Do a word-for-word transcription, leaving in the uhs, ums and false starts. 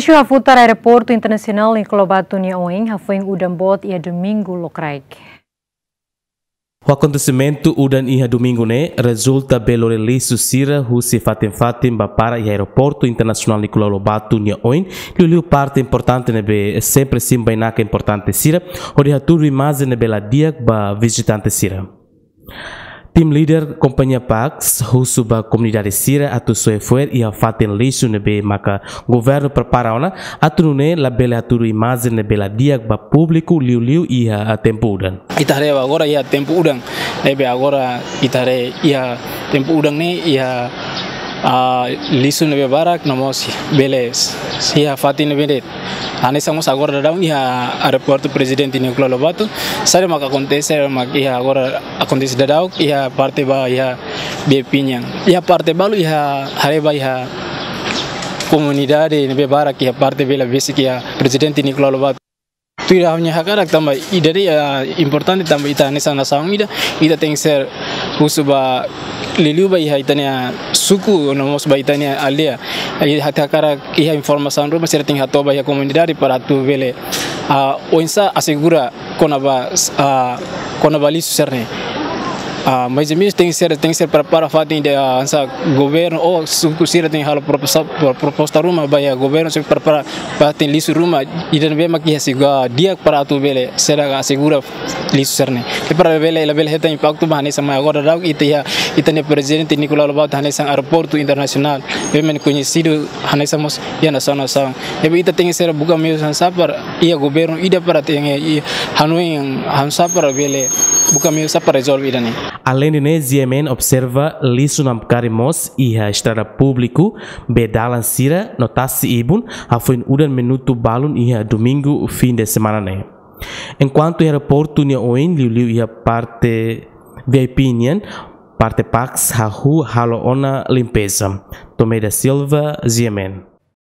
Lixu hafutar Aeroportu Internasionál Nicolau Lobato nia oin hafoin udan boot iha domingu lokraik. Akontesimentu udan iha domingu ne'e rezulta be lori lixu sira husi fatin-fatin ba para iha Aeroportu Internasionál Nicolau Lobato nia oin, liuliu parte importante ne'ebé sempre simu bainaka importante sira, hodi hatudu imajen ne'ebé la di'ak ba vizitante sira. Tim lider kompañia Pax husu ba komunidade sira atu soe fo'er iha fatin lixu ne'ebé maka governu prepara ona, atu nune'e labele hatudu imajen ne'ebé la di'ak ba públiku liuliu iha tempu udan. Ita haree agora iha tempu udan, ne'ebé agora ita haree iha tempu udan ne'e iha, ah, lixu ne'ebé barak no mós bele iha fatin ne'ebé de'it. Hanesan mós agora daudaun iha Aeroportu Prezidente Nicolau Lobato, saida mak akontese, mak iha agora akontese daudaun iha parte ba iha B I P nian. Iha parte balu iha haree ba iha komunidade ne'ebé barak iha parte bele besik iha Prezidente Nicolau Lobato. Tuir ha'u-nia hakarak tanba ida-ne'e, ah, importante tanba ita hanesan nasaun ida, ita tenke ser husu ba liuliu ba iha ita-nia suku no mós ba ita-nia aldeia. Iha hakarak iha informasaun ruma sira tenke hato'o ba iha komunidade para atu bele, ah, oinsá asegura kona-ba, ah, kona-ba lixu sira-ne'e. Ah, mais ou menos tenke ser, tenke ser prepara fatin ida, ah, hanesan governu ou suku sira tenke halo proposta, pro-, proposta ruma ba iha governu sei prepara fatin lixu ruma ida ne'ebé mak iha siga di'ak para atu bele sira asegura lixu sira-ne'e. Ke para bele, labele hetan impaktu ba hanesan mak agora daudaun ita iha, ita-nia Prezidente Nicolau Lobato hanesan Aeroportu Internasionál, bem koñesidu hanesan mós iha nasaun-nasaun. Ne'ebé ita tenke ser buka meius hanesan para iha governu ida para tenke iha hanoin hanesan para bele buka meius para rezolve ida-ne'e. Aleinde ne'e, G M N observa lixu namkari mós iha estrada públiku, bee dalan sira no tasi-ibun, hafoin udan minutu balun iha domingu fin de semana ne'e. Enkuantu iha aeroportu nia oin, liuliu iha parte V I P nian, parte Pax hahú halo ona limpeza. Tomé da Silva, G M N.